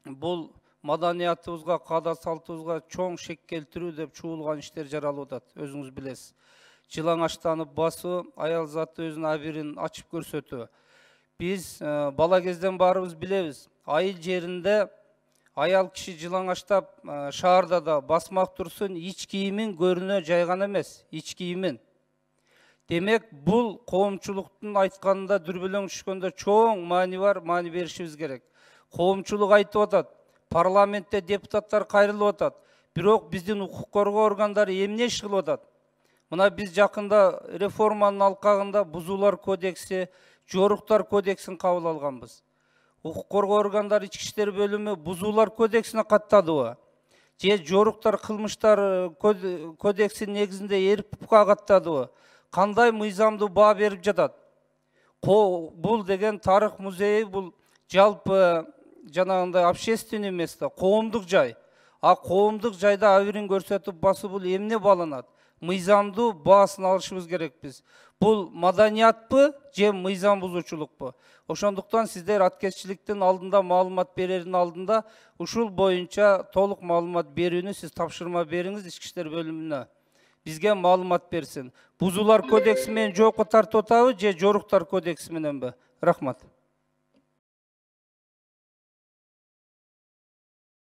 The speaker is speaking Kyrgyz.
бул маданиятыбызга, каада салтыбызга чоң шек келтирүү деп чуулган иштер жаралып атат. Өзүңүз билесиз. Жылаңачтанып басуу, аял заты өзүнүн абирин ачып көрсөтүү. Биз бала кезден баарыбыз билебиз. Айыл жеринде аял киши жылаңачтап шаарда да басмак турсун, ич кийимин көрүнө жайган эмес, ич кийимин. Демек, бул коомчулуктун айтканында дүрбөлөң түшкөндө чоң маани бар, маани беришибиз керек. Коомчулук айтып атат, парламентте депутаттар кайрылып атат. Бирок биздин укук коргоо органдары эмне иш кылып атат? Мына биз жакында реформанын алкагында бузуулар кодекси, жоруктар кодексин кабыл алганбыз. Укук коргоо органдары ички иштер бөлүмү бузуулар кодексине каттадыбы? Же жоруктар кылмыштар кодексинин негизинде РПК каттадыбы? Кандай мыйзамдуу баа берип жатат? Бул деген тарых музейи, бул жалпы жанагындай общественный место, коомдук жай. А коомдук жайда абирин көрсөтүп басуу бул эмне баланат? Мыйзамдуу баасын алышыбыз керек биз. Бул маданиятпы же мыйзам бузуучулукпу? Ошондуктан сиздер аткезчиликтин алдында, маалымат берердин алдында ушул боюнча толук маалымат берүүнү сиз тапшырма бериңиз ички иштер бөлүмүнө. Бизге маалымат берсин. Бузуулар кодекси менен жоопко тартып атабы же жоруктар кодекси мененби? Рахмат.